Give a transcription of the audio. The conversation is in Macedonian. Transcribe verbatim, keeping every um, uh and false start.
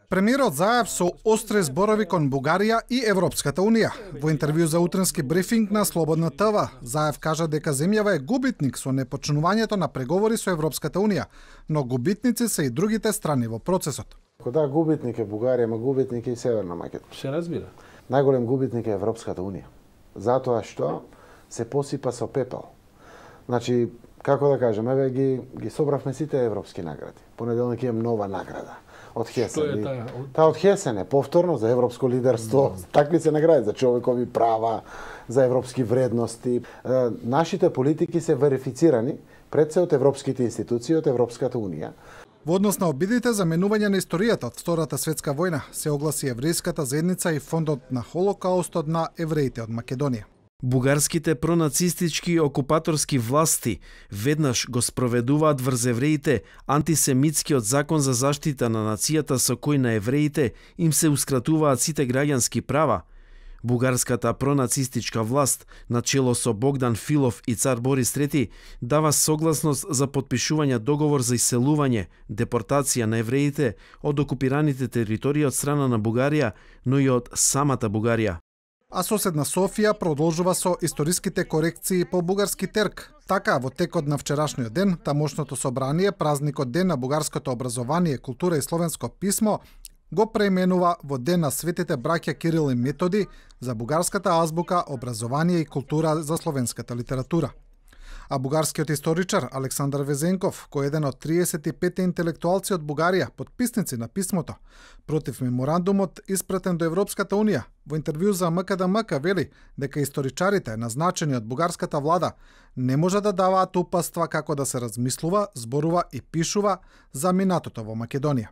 Премиерот Заев со остри зборови кон Бугарија и Европската Унија. Во интервју за утренски брифинг на Слободна ТВ, Заев кажа дека земјава е губитник со непочнувањето на преговори со Европската Унија, но губитници се и другите страни во процесот. Кога губитник е Бугарија, ма губитник е и Северна Македонија. Се разбира. Најголем губитник е Европската Унија. Затоа што се посипа со пепел. Значи, како да кажем, еве ги ги собравме сите европски награди. Понеделник имам нова награда од Хесен. Што е таа? Таа од Хесен е повторно за европско лидерство. Mm. Такви се награди за човекови права, за европски вредности. Е, нашите политики се верифицирани пред се од европските институции, од Европската Унија. Во однос на обидите за менување на историјата од Втората светска војна се огласи еврејската заедница и фондот на Холокаустот на евреите од Македонија. Бугарските пронацистички окупаторски власти веднаш го спроведуваат врз евреите антисемитскиот закон за заштита на нацијата со кој на евреите им се ускратуваат сите граѓански права. Бугарската пронацистичка власт, начело со Богдан Филов и цар Борис трети, дава согласност за потпишување договор за иселување, депортација на евреите од окупираните територии од страна на Бугарија, но и од самата Бугарија. А соседна Софија продолжува со историските корекции по бугарски терк. Така, во текот на вчерашниот ден, тамошното собрание, празникот ден на бугарското образование, култура и словенско писмо, го преименува во Ден на светите браќа Кирил и Методи за бугарската азбука, образование и култура за словенската литература. А бугарскиот историчар Александар Везенков, кој е еден од триесет и пет интелектуалци од Бугарија, подписници на писмото, против меморандумот испратен до Европската Унија, во интервју за МКДМК вели дека историчарите, назначени од бугарската влада, не може да даваат упатства како да се размислува, зборува и пишува за минатото во Македонија.